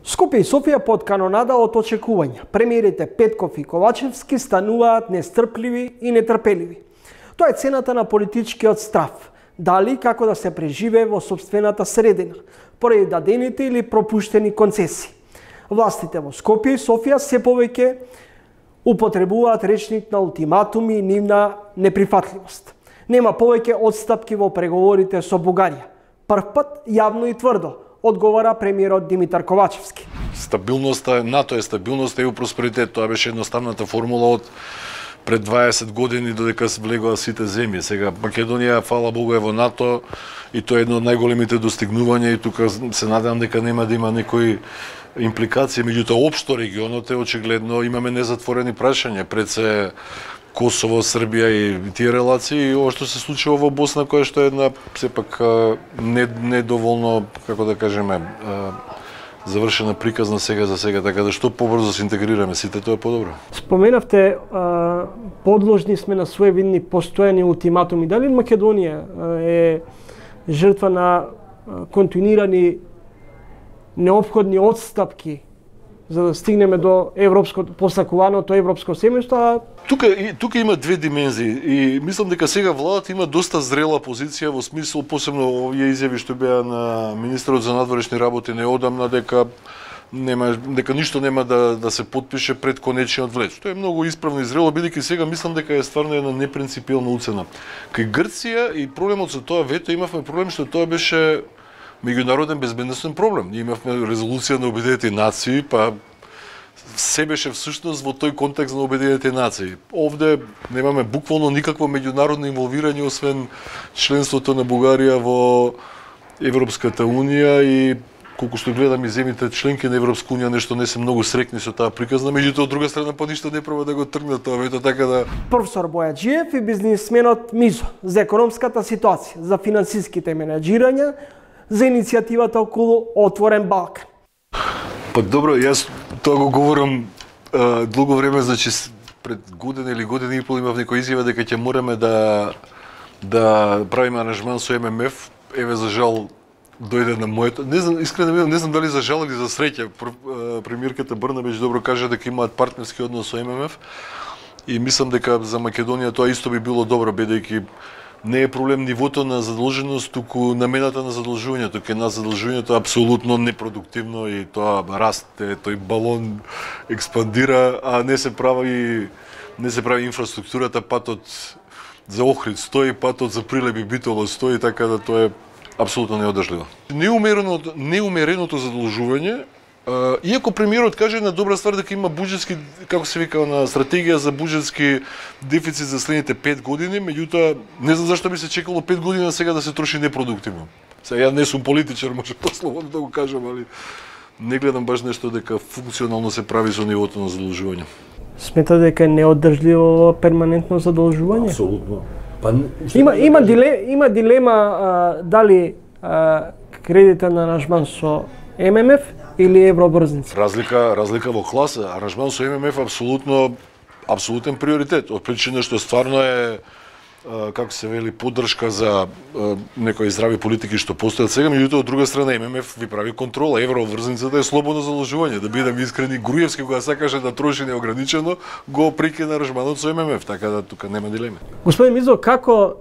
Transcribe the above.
Скопје и Софија под канонада од очекувања. Премиерите Петков и Ковачевски стануваат нестрпливи и нетрпеливи. Тоа е цената на политичкиот страв. Дали како да се преживее во собствената средина, поради дадените или пропуштени концесии. Властите во Скопје и Софија се повеќе употребуваат речник на ултиматуми и нивна неприфатливост. Нема повеќе одстапки во преговорите со Бугарија. Прв пат јавно и тврдо одговара премиерот Димитар Ковачевски. Стабилноста, НАТО е стабилност, EU просперитет. Тоа беше едноставната формула од пред 20 години додека се влегоа сите земји. Сега Македонија, фала Богу, е во НАТО и тоа е едно од најголемите достигнувања и тука се надевам дека нема да има некои импликации, меѓутоа општо регионот е очигледно имаме незатворени прашања пред се Косово, Србија и тие релации, и ова што се случува во Босна, која што е една сепак недоволно, како да кажеме, завршена приказна сега за сега, така да што побрзо се интегрираме сите, тоа е подобро. Споменавте подложни сме на своевидни постојани ултиматуми. Дали Македонија е жртва на континуирани неопходни отстапки за да стигнеме до посакуваното европско семејство? Тука има две димензии и мислам дека сега владата има доста зрела позиција во смисол, посебно овие изјави што беа на министерот за надворешни работи неодамна, дека ништо нема да се потпише пред конечниот влез. Тоа е многу исправно и зрело, бидејќи сега мислам дека е стварно една непринципиелна уцена. Кај Грција и проблемот со тоа вето имавме проблем што тоа беше меѓународен безбедносен проблем. Ние имавме резолуција на Обединетите нации, па се беше всушност во тој контекст на Обединетите нации. Овде немаме буквално никакво меѓународно инволвирање освен членството на Бугарија во Европската унија и колку што гледам и земјите членки на Европска унија нешто не се многу срекни со таа приказна, меѓутоа од друга страна па ништо не проба да го тргнат тоа вето, така да. Професор Бојаджиев и бизнисменот Мизо за економската ситуација, за финансиските менаџирања, за иницијативата околу Отворен Балкан. Па добро, јас тоа го говорам долго време, значи пред година или година и пол имав некоја изјава дека ќе мораме да правиме аранжман со ММФ. Еве за жал дојде на моето. Не знам, искрено не знам дали за жал или за среќа. Премиерката Брнабич добро кажа дека имаат партнерски однос со ММФ и мислам дека за Македонија тоа исто би било добро, бидејќи не е проблем нивото на задолженост, туку намената на задолжувањето. Кај нас задолжувањето е апсолутно непродуктивно и тоа расте, тој балон експандира, а не се прави инфраструктурата, патот за Охрид стои, патот за Прилеп и Битола стои, така да тоа е апсолутно неодржливо. Неумереното задолжување, иако премиерот каже на добра ствар дека има буџетски, како се вика, на стратегија за буџетски дефицит за следните 5 години, меѓутоа не знам зашто би се чекало 5 години сега да се троши непродуктивно. Сега ја не сум политичар, може послободно да го кажам, али не гледам баш нешто дека функционално се прави со нивото на задолжување. Смета дека е неодржливо перманентно задолжување? Апсолутно. Има дилема дали кредитен аранжман со ММФ или евробрзница? Разлика во класа. Аранжман со ММФ апсолутен приоритет. Од причина што стварно е, како се вели, поддршка за некои здрави политики што постојат сега, меѓутоа од друга страна ММФ ви прави контрола. Евроврзницата е слободно задолжување. Да бидам искрени, Груевски кога сакаше да троши неограничено, го прекина аранжманот со ММФ, така да тука нема дилема. Господин Мизо, како